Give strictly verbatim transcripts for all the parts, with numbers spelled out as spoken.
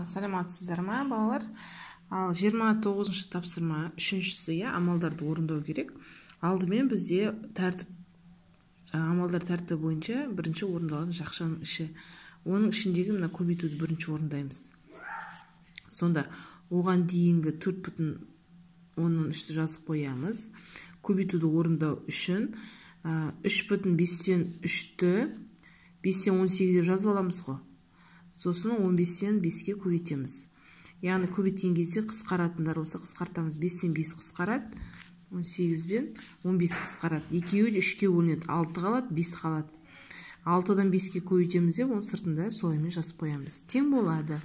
Саламатсыздар ма, балалар? Ал жиырма тоғызыншы тапсырма, үшіншісі, я, амалдарды орындау керек. Алдымен бізде тәртіп, амалдар тәртібі бойынша бірінші орындалатын жақшаның іші. Оның ішіндегі мына көбейтуді бірінші орындаймыз. Сонда оған дейінгі төрт бүтін оннан үшті жазып қоямыз. Көбейтуді орындау үшін үш бүтін бестен үшті бестен он сегіз деп жазып аламыз ғой. Сосын он бестен беске көбейтеміз. Яғни көбейткен кезде қысқаратындар болса қысқартамыз. бестен бес қысқарады, он сегізден он бес қысқарады. Екеуі де үшке бөлінеді, алты қалады, бес қалады. алтыдан беске көбейтеміз деп, оның сыртында солаймен жазып қоямыз. Тең болады.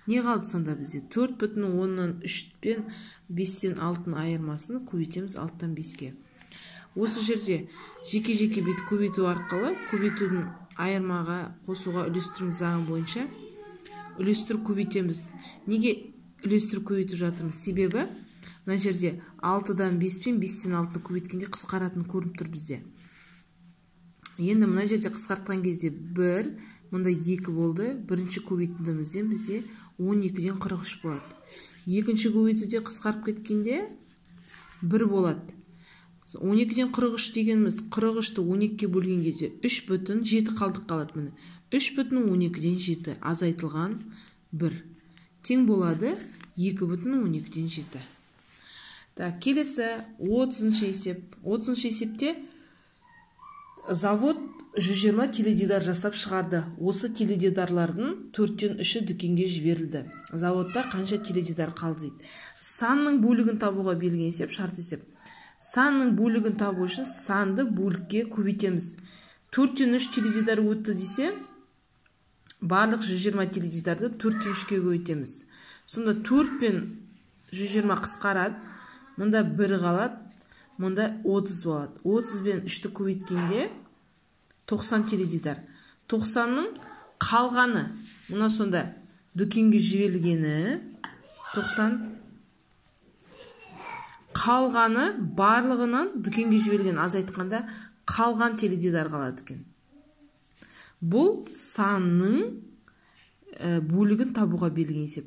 Не қалды сонда бізде? төрт бүтін оннан үш пен бестен алтының айырмасын көбейтеміз алтыдан беске. Осы жерде жеке-жеке бет көбейту арқылы көбейтудің айырмаға қосуға үлестірім заңы бойынша үлестіріп көбейтеміз. Неге үлестіріп көбейтіп жатырмыз? Себебі мына жерде алтыдан бес пен бестен алтыны көбейткенде қысқаратын көрініп тұр бізде. Енді мына жерде қысқартқан кезде бір, мында екі болды. Бірінші көбейтіндімізден бізде он екіден қырық үш болады. Екінші көбейтуде қысқарып кеткенде бір болады. он екіден қырық үш дегеніміз қырық үшті он екіге бөлген кезде үш бүтін жеті қалдық қалады. Міне үш бүтін он екіден жеті азайтылған бір тең болады екі бүтін он екіден жеті. Так, келесі отызыншы есеп. отызыншы есепте завод жүз жиырма теледидар жасап шығарды. Осы теледидарлардың төрттен үші дүкенге жіберілді. Заводта қанша теледидар қалды дейді. Санның бөлігін табуға берілген есеп, шарт есеп. Санның бөлігін табу үшін санды бөлікке көбейтеміз. төрттен үш теледидар өтті десе, барлық жүз жиырма теледидарды төрттен үшке көбейтеміз. Сонда төрт пен жүз жиырма қысқарады, мұнда бір қалады, мұнда отыз болады. отыз бен үшті көбейткенде тоқсан теледидар. тоқсанның қалғаны, мұна сонда дүкенге жіберілгені тоқсан, қалғаны барлығынан дүкенге жіберілген, аз айтқанда қалған теледидар қалады екен. Бұл санның бөлігін табуға берілген есеп.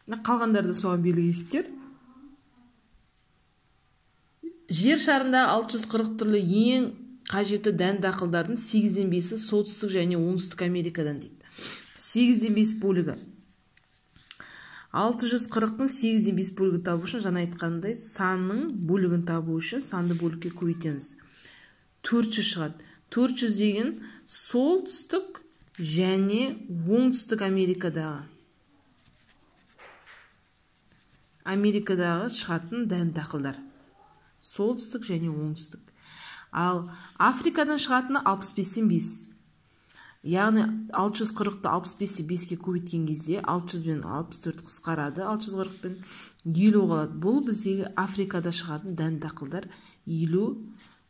Қалғандарды соған берілген есептер. Жер шарында алты жүз қырық түрлі ең қажетті дән дақылдардың сегізден бесі солтүстік және оңтүстік Америкадан дейді. сегізден бес бөлігі. алты жүз қырықтың сегізден бес бөлігін табу үшін, жаңа айтқандай, санның бөлігін табу үшін санды бөлікке көбейтеміз. төрт жүз шығады. төрт жүз деген солтүстік және оңтүстік Америкадағы. Америкадағы шығатын дән дақылдар. Солтүстік және оңтүстік. Ал Африкадан шығатыны алпыс бестен бес. Яғни алты жүз қырықты алпыс бесте беске көбейткен кезде алты жүз бен алпыс төрт қысқарады, алты жүз қырық пен елу қалады. Бұл біздегі Африкада шығатын дән дақылдар елу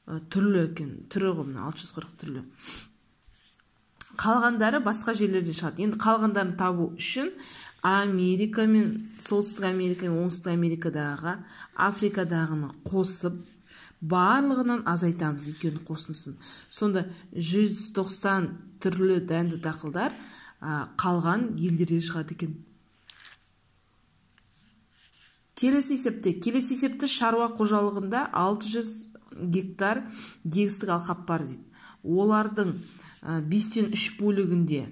түрлі екен. Түрі ғой, алты жүз қырық түрлі. Қалғандары басқа жерлерде шығады. Енді қалғандарын табу үшін Америка мен солтүстік Америка мен оңтүстік Америкадағы Африкадағыны қосып барлығынан азайтамыз, екеуінің қосындысын. Сонда жүз тоқсан түрлі дәнді дақылдар қалған елдерде шығады екен. Келесі есепте, келесі есепте шаруа қожалығында алты жүз гектар егістік алқап бар дейді. Олардың бестен үш бөлігінде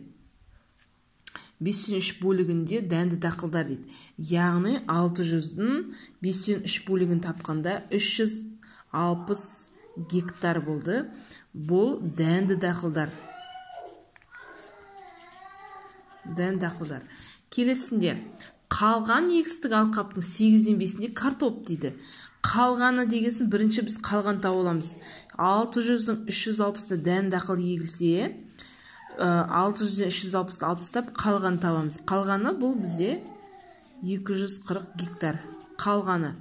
бестен үш бөлігінде дәнді дақылдар дейді. Яғни алты жүздің бестен үш бөлігін тапқанда үш жүз алпыс гектар болды. Бұл дәнді дақылдар. Дәнді дақылдар. Келесінде қалған егістік алқаптың сегізден бесінде картоп дейді. Қалғаны дегесін бірінші біз қалған тауып аламыз. алты жүздің үш жүз алпысты дәнді дақыл егілсе, алты жүзден үш жүз алпысты алпыстап қалған табамыз. Қалғаны бұл бізде екі жүз қырық гектар. Қалғаны.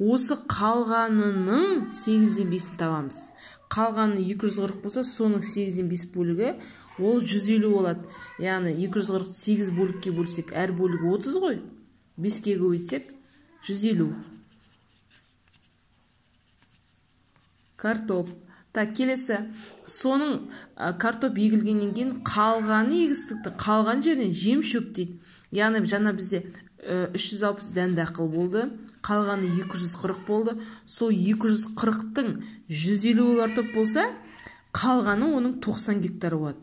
Осы қалғанының сегізден бесін табамыз. Қалғаны екі жүз қырық болса, соның сегізден бес бөлігі ол жүз елу болады. Яғни екі жүз қырық сегіз бөлікке бөлсек, әр бөлігі отыз ғой. беске көбейтсек жүз елу. Картоп. Так, келесі. Соның картоп егілгеннен кейін қалғаны егістіктің қалған жерінен жем шөп дейді. Яғни жаңа бізде үш жүз алпыс дән дақыл болды. Қалғаны екі жүз қырық болды. Сол екі жүз қырықтың жүз елу картоп болса, қалғаны оның тоқсан гектары болады.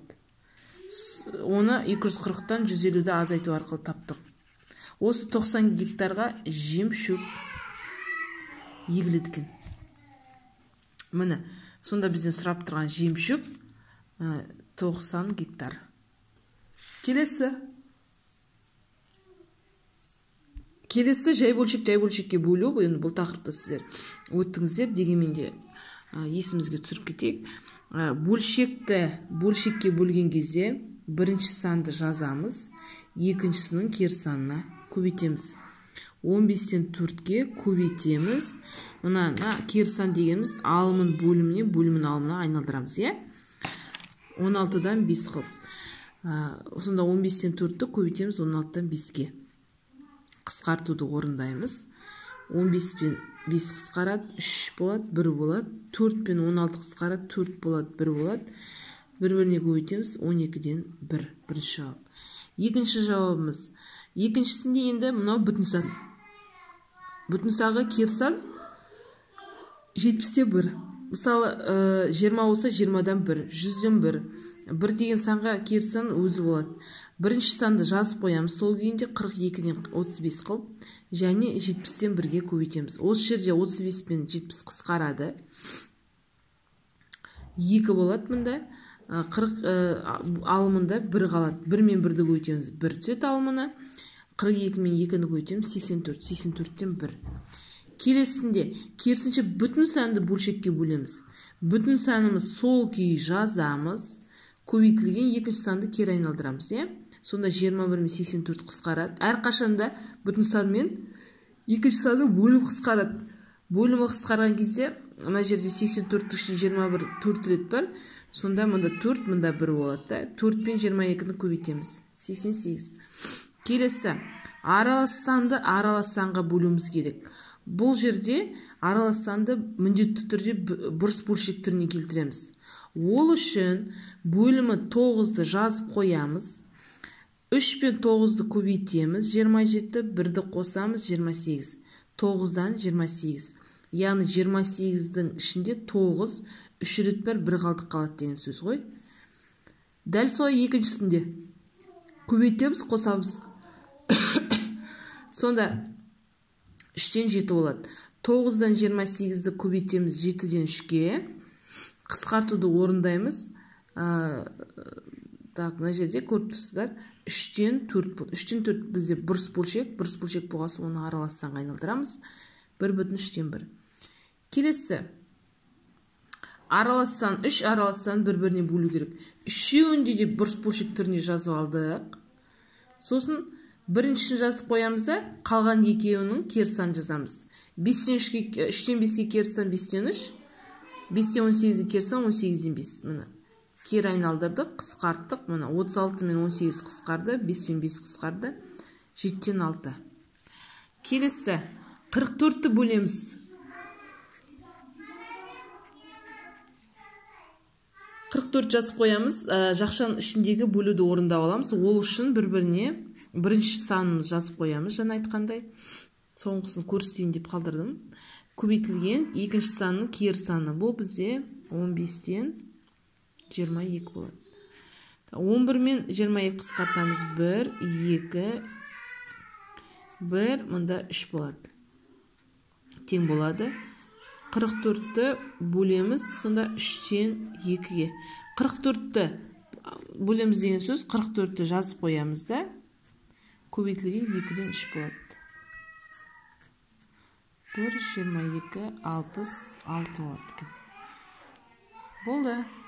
Оны екі жүз қырықтан жүз елуді азайту арқылы таптық. Осы тоқсан гектарға жем шөп егіледі екен. Міне, сонда бізден сұрап тұрған жем шөп тоқсан гектар. Келесі. Келесі жай бөлшек жай бөлшекке бөлу. Бұл тақырыпты сіздер өттіңіздер, дегенмен де есімізге түсіріп кетейік. Бөлшекті бөлшекке бөлген кезде бірінші санды жазамыз, екіншісінің кері санына көбейтеміз. он бестен төртке көбейтеміз. Мына кері сан дегеніміз алымын бөліміне, бөлімін алымына айналдырамыз, е? он алтыдан бес қылып. Сонда он бестен төртті көбейтеміз он алтыдан беске. Қысқартуды орындаймыз. он бес пен бес қысқарады, үш болады, бір болады. төрт пен он алты қысқарады, төрт болады, бір болады. бір-біріне көбейтеміз, он екіден бір. Бірінші жауап. Екінші жауабымыз. Екіншісінде енді мынау бүтін сан. Бүтін санға кері сан жетпістен бір. Мысалы, жиырма болса жиырмадан бір, жүзден бір. бір деген санға кері сан өзі болады. Бірінші санды жазып қоямыз. Сол күйінде қырық екіден отыз бес қылып, және жетпістен бірге көбейтеміз. Осы жерде отыз бес пен жетпіс қысқарады. екі болады мұнда. қырық алымында бір қалады. бір мен бірді көбейтеміз. бір түсет алымына. қырық екі мен екіні көбейтеміз. сексен төрт. сексен төрттен бір. Келесінде керісінше бүтін санды бөлшекке бөлеміз. Бүтін санымыз сол күйі жазамыз. Көбейтілген екінші санды кері айналдырамыз, е? Сонда жиырма бір мен сексен төрт қысқарады. Әр қашанда бүтін сан мен екінші санды бөлім қысқарады. Бөлімі қысқарған кезде мына жерде сексен төрттің ішінде жиырма бір төрт рет бар. Сонда мұнда төрт, мұнда бір болады. төрт пен жиырма екіні көбейтеміз. сексен сегіз. Келесі. Аралас санды аралас санға бөлуіміз керек. Бұл жерде аралас санды міндетті түрде бұрыс бөлшек түріне келтіреміз. Ол үшін бөлімі тоғызды жазып қоямыз. үш пен тоғызды көбейтеміз. жиырма жеті, бірді қосамыз. жиырма сегіз. тоғыздан жиырма сегіз. Яғни жиырма сегіздің ішінде тоғыз, үш рет бар, бір қалдық қалады деген сөз ғой. Дәл солай екіншісінде көбейтеміз, қосамыз. Сонда үштен жеті болады. тоғыздан жиырма сегізді көбейтеміз, жетіден үшке. Қысқартуды орындаймыз. Так, мына жерде көріп тұрсыздар. үштен төрт болды. үштен төрт бізде бұрыс бөлшек, бұрыс бөлшек болғасы оны аралас санға айналдырамыз. бір бүтін үштен бір. Келесі. Аралас сан, үш аралас сан бір-біріне бөлу керек. Үшеуінде де бұрыс бөлшек түріне жазып алдық. Сосын біріншісін жазып қоямыз да, қалған екеуінің кері сан жазамыз. үштен беске кері сан бестен үш. бестен он сегізге кері сан он сегізден бес. Міне. Кері айналдырдық, қысқарттық. Міне отыз алты мен он сегіз қысқарды, бес пен бес қысқарды. жетіден алты. Келесі. қырық төртті бөлеміз. қырық төрт жазып қоямыз. Жақшаның ішіндегі бөлуді орындап аламыз. Ол үшін бір-біріне бірінші санымыз жазып қоямыз. Жаңа айтқандай. Соңғысын көрсетейін деп қалдырдым. Көбейтілген екінші санның кері саны. Бұл бізде он бестен жиырма екі болады. он бір мен жиырма екі қысқартамыз. бір, екі, бір, мұнда үш болады. Тең болады. қырық төртті бөлеміз, сонда үштен екіге. қырық төртті бөлеміз деген сөз, қырық төртті жазып қоямыз да, көбейтілген екіден үш болады. бір, жиырма екі, алпыс алты болады. Болды.